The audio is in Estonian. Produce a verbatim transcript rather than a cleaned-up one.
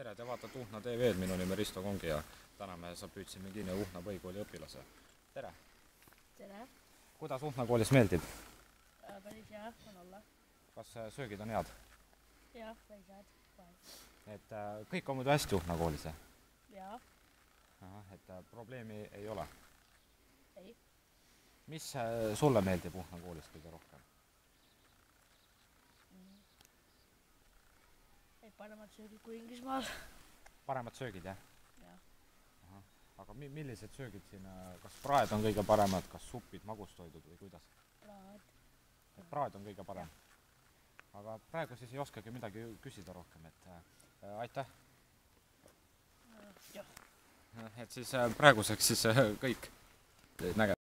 tere, te vaatate Uhnna T V-d, minu nimi Risto Kongi ja täna me sa püüdsime kinni Uhnna põhikooli õpilase. Tere! Tere! Kuidas Uhnna koolis meeldib? Päris hea on olla. Kas söögid on head? Jah, päris head. Et kõik on muidu hästi Uhnna koolis? Jaa. Et probleemi ei ole? Ei. Mis sulle meeldib Uhnna koolis kõige rohkem? Paremad söögid kui Inglismaal. Paremad söögid, jah? Jah. Aga millised söögid siin, kas praed on kõige paremad, kas supid, magustoidud või kuidas? Praad. Praad on kõige parem? Aga praegu siis ei oskagi midagi küsida rohkem, et aitäh! Jah. Et siis praeguseks siis kõik näge-